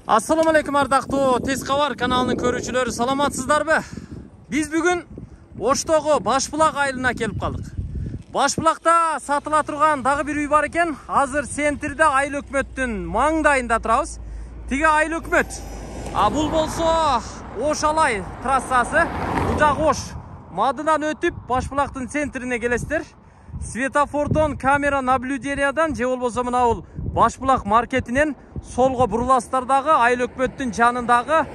Assalamu alaikum ардактуу Тез кабар каналынын көрүүчүлөрү, саламатсыздарбы? Биз бүгүн Оштогу Башбулак айылына келип калдык. Башбулакта сатыла турган дагы бир үй бар экен. Азыр центрде Айыл өкмөттүн маңдайында турабыз. Тиги Айыл өкмөт. Бул болсо Ош Алай трассасы. Бул жак Ош. Мадынан өтүп Башбулактын центрине келесиздер. Светофордон, камера наблюдениядан же болбосо мына бул Башбулак маркетинен солго буруласыздар дагы Айыл өкмөттүн жанындагы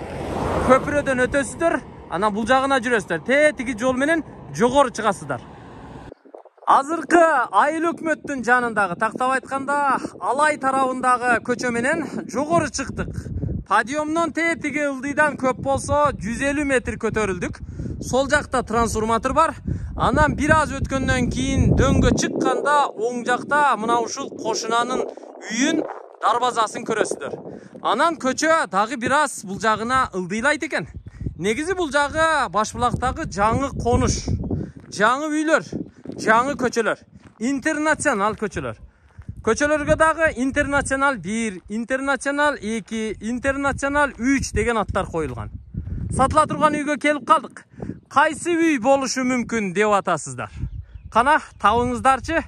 көпүрөдөн өтөсүздөр. Анан бул жагына жүрөсүздөр. Тиги жол менен жогору чыгасыздар. Азыркы Айыл өкмөттүн жанындагы, тактап айтканда Алай тарабындагы көчө менен жогору чыктык. Подъемдон тиги ылдыйдан көп болсо 150 метр көтөрүлдүк. Сол жакта трансформатор бар. Анан бир аз өткөндөн кийин дөңгө чыкканда оң жакта мына ушул кошунанын үйүн, дарбазасын көрөсүздөр. Анан көчө дагы бир аз бул жагына ылдыйлайт экен. Негизи бул жагы Башбулактагы жаңы конуш, жаңы үйлөр, жаңы көчөлөр, интернационал көчөлөр. Көчөлөргө дагы интернационал 1, интернационал 2, интернационал 3 деген аттар коюлган. Сатыла турган үйгө келип калдык. Кайсы үй болушу мүмкүн деп атасыздар? Кана табыңыздарчы.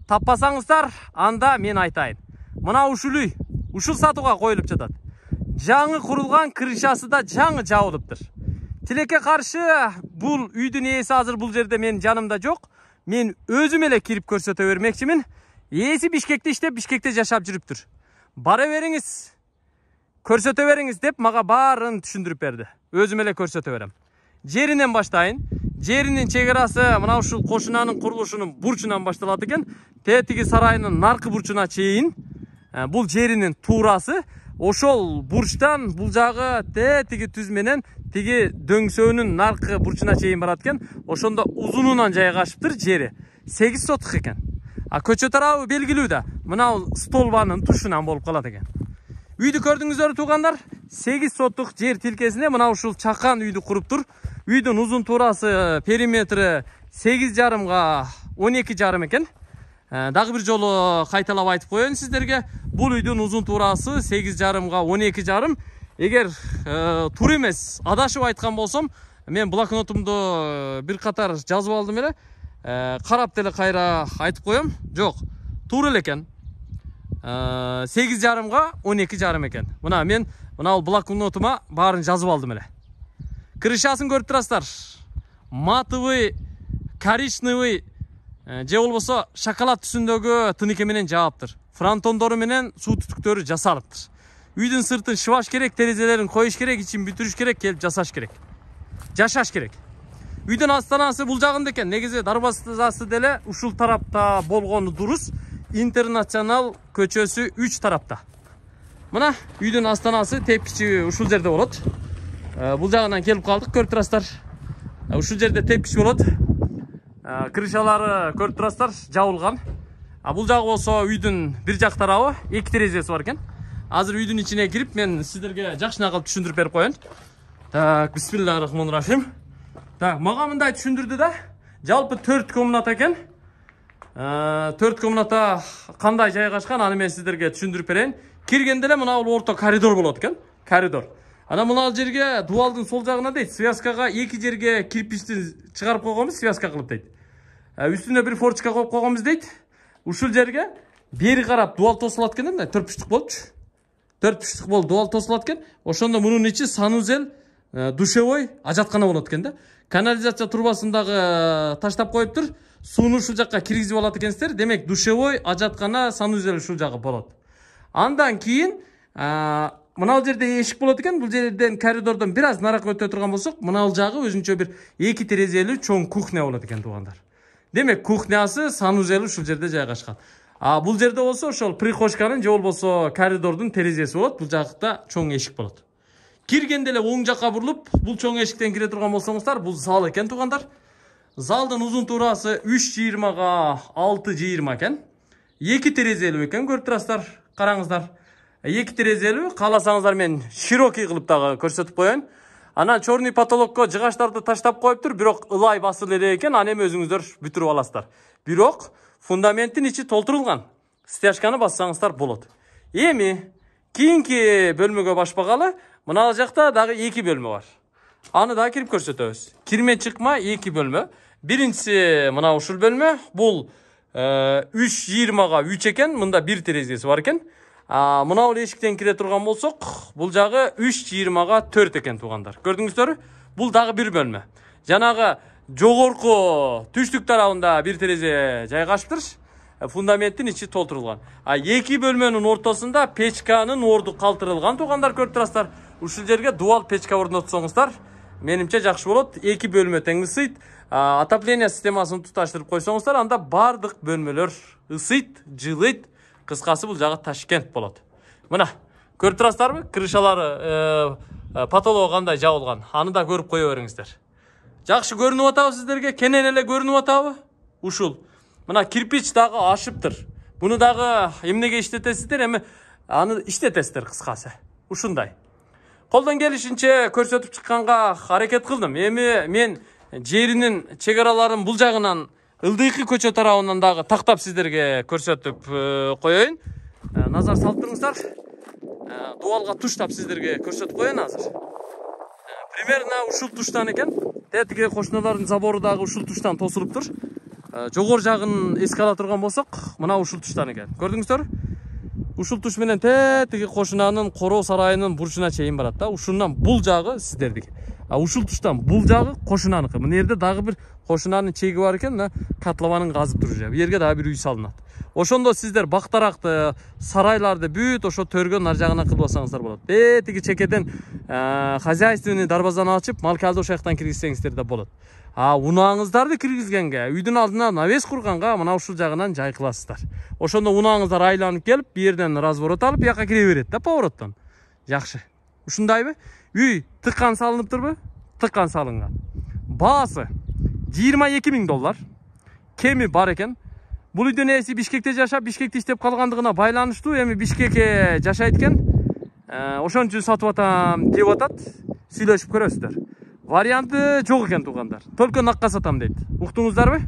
Таппасаңыздар, анда мен айтайын. Мына ушул үй, ушул сатууга коюлуп жатат. Жаңы курулган, крышасы да жаңы жабылыптыр. Тилекке каршы бул үйдүн ээси азыр бул жерде мен жанымда жок. Мен өзүм эле кирип көрсөтө бермекчимин. Ээси Бишкекте иштеп, Бишкекте жашап жүрүптүр. Бара бериңиз, көрсөтө бериңиз деп мага баарын түшүндүрүп берди. Өзүм эле көрсөтө берем. Жеринен баштайын. Жеринин чегерасы мына ушул кошунанын курулушунун бурчунан башталат экен. Тиги сарайынын наркы бурчуна чейин. Бул жеринин туурасы. Ошол бурчтан бул жагы тиги түз менен тиги дөңсөөнүн наркы бурчуна чейин барат экен. Ошондо узунунан жайгашыптыр жери. 8 сотук экен. Көчө тарабы белгилүү да. Мына бул столбанын тушунан болуп калат экен. Үйдү көрдүңүздөр туугандар. 8 сотук жер тилкесинде мына ушул чакан үйдү куруптур. Үйдүн узун туурасы периметри 8,5 12,5 экен. Дагы бир жолу кайталап айтып коеюн сиздерге. Бул үйдүн узун туурасы 8,5 12,5. Эгер туура эмес, адашып айткан болсом, мен блокнотумду бир катар жазып алдым эле. Карап деле кайра айтып коем. Жок, туура эле экен. 8,5 12,5 экен. Мына мен мына блокнотума баарын жазып алдым эле. Крышасын көрүп турасыздар. Матовый, коричневый же болбосо шоколад түсүндөгү тыныке менен жааптыр. Фронтондору менен суу түтүктөрү жасалыптыр. Үйдүн сыртын шыбаш керек, терезелерин коюш керек, ичин бүтүрүш керек, келип жасаш керек. Жашаш керек. Үйдүн астанасы бул жагында экен. Негизи дарбазасы деле ушул тарапта болгону дурус. Интернационал көчөсү 3 тарапта. Мына үйдүн астанасы тепкичи ушул жерде болот. Бул жагынан келип калдык, көрүп турасыздар. Ушул жерде тепкич болот. Крышалары көрүп турасыздар, жабылган. Бул жагы болсо үйдүн бир жак тарабы, 2 терезеси бар экен. Азыр үйдүн ичине кирип мен сиздерге жакшына кылып түшүндүрүп берип коеюн. Так, бисмиллахиррахманиррахим. Так, мага мындай түшүндүрдү да. Жалпы 4 комната экен. 4 комната кандай жайгашкан, аны мен сиздерге түшүндүрүп берейин. Киргенде эле мына бул орто коридор болот экен. Коридор. Анан мына жерге дубалдын сол жагына дейт, связкага 2 жерге кирпичти чыгарып койгонбуз, связка кылып дейт. Үстүнө бир форчка коюп койгонбуз дейт. Ушул жерге бери карап дубал тосулат экен да, 4 буштук болчу. 4 буштук болуп дубал тосулат экен. Ошондо мунун ичи санузел, душевой, ажаткана болот экен да. Канализация трубасын дагы таштап коюптур. Сууну ушул жакка киргизип алат экенсиздер. Демек, душевой, ажаткана, санузел ушул жагы болот. Андан кийин мына жерде эшик болот экен. Бул жерден коридордон бир аз наракка өтө турган болсок, мына жагы өзүнчө бир 2 терезелүү чоң кухня болот экен туугандар. Демек, кухнясы, санузели ушул жерде жайгашкан. Бул жерде болсо ошол прихожканын же болбосо коридордун терезеси болот. Бул жакта чоң эшик болот. Киргенде эле оң жакка бурулуп, бул чоң эшиктен кире турган болсоңуздар, бул зал экен туугандар. Залдын узун туурасы 3,20 6,20 экен. 2 терезелүү экен, көрүп турасыздар, караңыздар. 2 терезелүү, кааласаңыздар мен широкий кылып дагы көрсөтүп коеюн. Анан чорный потолокко жыгаштарды таштап коюптур, бирок ылай басылы эле экен, аны эми өзүңүздөр бүтүрүп аласыздар. Бирок фундаменттин ичи толтурулган. Стяжканы бассаңыздар болот. Эми Кийинки бөлмөгө башпагалы, мына жакта дагы 2 бөлмө бар. Аны да кирип көрсөтөбүз. Кирме чыкма 2 бөлмө. Биринчиси мына ушул бөлмө. Бул 3:20га 3 экен. Мында 1 терезеси бар экен. Мына бул эшиктен кире турган болсок, бул жагы 3:20га 4 экен туугандар. Көрдүңүздөрбү? Бул дагы 1 бөлмө. Жанагы жогорку түштүк тарабында 1 терезе жайгашыптыр. Фундаменттин ичи толтурулган. 2 бөлмөнүн ортосунда печканын орду калтырылган туугандар, көрүп турасыздар. Ушул жерге дуал печка орнотсоңуздар, менимче жакшы болот. 2 бөлмө тең ысыйт. Отопление системасын туташтырып койсоңуздар, анда бардык бөлмөлөр ысыйт, жылыйт. Кыскасы бул жагы Ташкент болот. Мына, көрүп турасыздарбы? Крышалары, потологу кандай жабылган. Аны да көрүп кое бериңиздер. Жакшы көрүнүп атабы сиздерге? Кенен эле көрүнүп атабы? Ушул. Мына кирпич дагы ашыптыр. Буну дагы эмнеге иштетесиздер? Эми аны иштетесиздер кыскасы. Ушундай. Колдон келишинче көрсөтүп чыкканга аракет кылдым. Эми мен жеринин чегараларын бул жагынан Ылдыйкы көчө тарабынан дагы тактап сиздерге көрсөтүп коеюн. Назар салып туруңуздар. Дуалга туштап сиздерге көрсөтүп коеюн азыр. Примерно ушул туштан экен. Тетиги кошуналардын забору дагы ушул туштан тосулуптур. Жогор жагын эске ала турган болсок, мына ушул туштан экен. Көрдүңүздөрбү? Ушул туш менен тетиги кошунанын короо сарайынын бурчуна чейин барат да. Ушундан бул жагы сиздердики. Ушул туштан бул жагы кошунаныкы. Мына жерде дагы бир кошунанын чеги бар экен, мына катлабанын казып туруп. Бу жерге дагы бир үй салынат. Ошондо сиздер бактаракты, сарайларды бүт ошо төргөн ар жагына кылбасаңыздар болот. Тиги чекеден хозяйственный дарбазаны ачып, малкалды ошол жактан киргизсеңиздер да болот. Унааңыздарды киргизгенге, үйдүн алдына навес курганга мына ушул жагынан жай кыласыздар. Ошондо унааңыздар айланып келип, бу жерден разворот алып, бияка кире берет да повороттон. Жакшы. Ушундайбы? Үй тыккан салыныптырбы? Тыккан салынган. Баасы $22,000. Кеми бар экен. Бул үйдүн ээси Бишкекте жашап, Бишкекте иштеп калгандыгына байланыштуу. Эми Бишкекке жашайт экен. Ошон үчүн сатып атам деп атат. Сүйлөшүп көрөсүздөр. Варианты жок экен туугандар. Только накка сатам дейт. Уктуңуздарбы?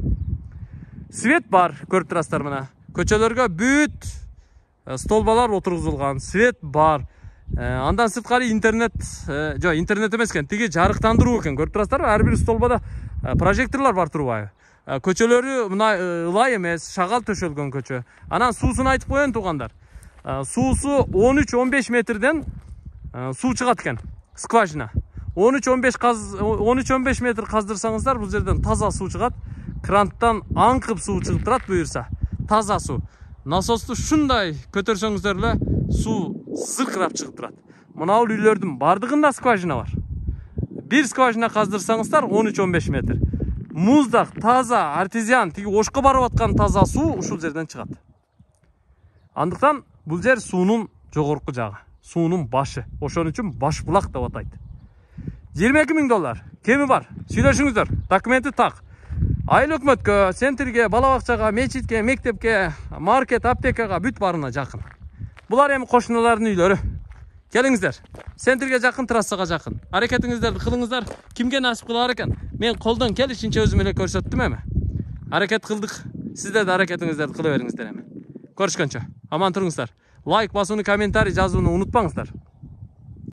Свет бар, көрүп турасыздар мына. Көчөлөргө бүт столбалар отургузулган. Свет бар. Андан сырткары интернет, интернет эмес экен, тиги жарыктандыруу экен. Көрүп турасыздарбы? Ар бир столбада прожекторлор бар турбайбы? Көчөлөрү мына ылай эмес, шагал төшөлгөн көчө. Анан суусун айтып коеюн туугандар. Суусу 13-15 метрден суу чыгат экен. Скважина. 13-15 метр каздырсаңыздар, бул жерден таза суу чыгат. Кранттан аңкып суу чыгып турат буюрса. Таза суу. Насосту шундай көтөрсөңүздөр эле суу зыркырап чыгып турат. Мына бул үйлөрдүн бардыгында скважина бар. Бир скважина каздырсаңыздар 13-15 метр. Муздак, таза, артезиан, тиги ошко барып аткан таза суу ушул жерден чыгат. Андыктан бул жер суунун жогорку жагы, суунун башы. Ошон үчүн Башбулак деп атайт. $22,000. Кеми бар? Сүйлөшүңүздөр. Документи так. Айыл өкмөткө, центрге, бала бакчага, мечитке, мектепке, маркет, аптекага бүт барына жакын. Булар эми кошуналардын үйлөрү. Келиңиздер. Центрге жакын, трассага жакын. Аракетиңиздерди кылыңыздар. Кимге насип кылар экен? Мен колдон келишинче өзүм эле көрсөттүм эми. Аракет кылдык. Сиздер да аракетиңиздерди кыла бериңиздер эми. Көрүшкөнчө. Аман туруңуздар. Лайк басууну, комментарий жазууну унутпаңыздар.